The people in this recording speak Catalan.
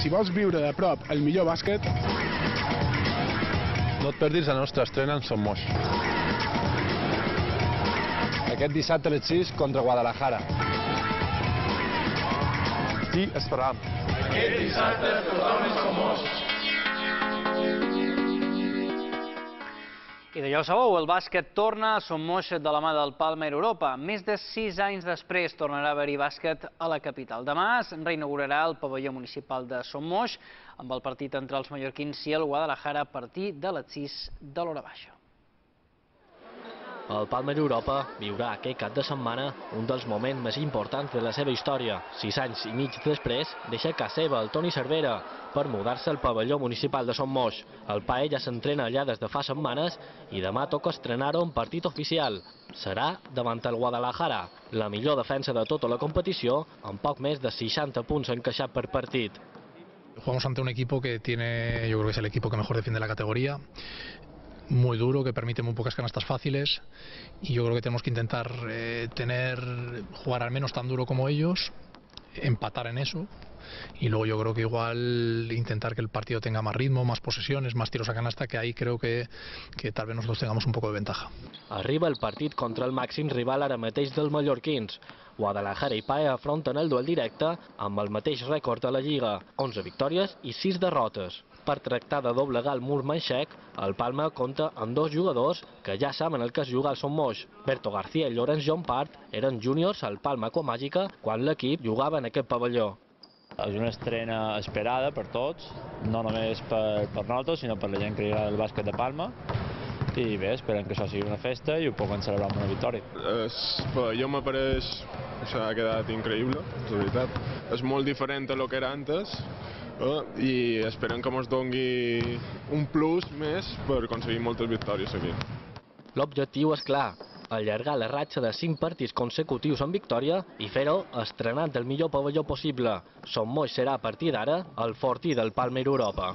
si vols viure de prop el millor bàsquet... No et perdis la nostra estrena en Son Moix. Aquest dissabte a les 6 contra Guadalajara. T'hi esperam. Aquest dissabte tothom és Son Moix. I ja ho sabeu, el bàsquet torna a Son Moix de la mà del Palmer Europa. Més de 6 anys després tornarà a haver-hi bàsquet a la capital. Demà es reinaugurarà el pavelló municipal de Son Moix amb el partit entre els mallorquins i el Guadalajara a partir de les 6 de l'hora baixa. El Palmer Europa viurà aquest cap de setmana un dels moments més importants de la seva història. 6 anys i mig després deixa a casa seva el Toni Cervera per mudar-se al pavelló municipal de Son Moix. El PAE ja s'entrena allà des de fa setmanes i demà toca estrenar-ho en partit oficial. Serà davant el Guadalajara, la millor defensa de tota la competició, amb poc més de 60 punts encaixats per partit. Jugamos ante un equipo que tiene, yo creo que es el equipo que mejor defiende la categoría. Muy duro, que permite muy pocas canastas fáciles y yo creo que tenemos que intentar jugar al menos tan duro como ellos, empatar en eso y luego yo creo que igual intentar que el partido tenga más ritmo, más posesiones, más tiros a canasta, que ahí creo que tal vez nosotros tengamos un poco de ventaja. Arriba el partit contra el màxim rival ara mateix dels mallorquins. Guadalajara i PAE afronten el duel directe amb el mateix rècord de la Lliga, 11 victòries i 6 derrotes. Per tractar de doblegar el mur manxec, el Palma compta amb 2 jugadors que ja saben el que es juga al Son Moix. Berto García i Llorenç Jompart eren júniors al Palma Aquamàgica quan l'equip jugava en aquest pavelló. És una estrena esperada per tots, no només per nosaltres, sinó per la gent que li agrada el bàsquet de Palma. I bé, esperem que això sigui una festa i ho puguem celebrar amb una victòria. El pavelló m'apareix, ha quedat increïble, de veritat. És molt diferent a lo que era antes i esperem que ens doni un plus més per aconseguir moltes victòries aquí. L'objectiu és clar, allargar la ratxa de 5 partits consecutius en victòria i fer-ho estrenant el millor pavelló possible. Son Moix serà a partir d'ara el fortí del Palmer Europa.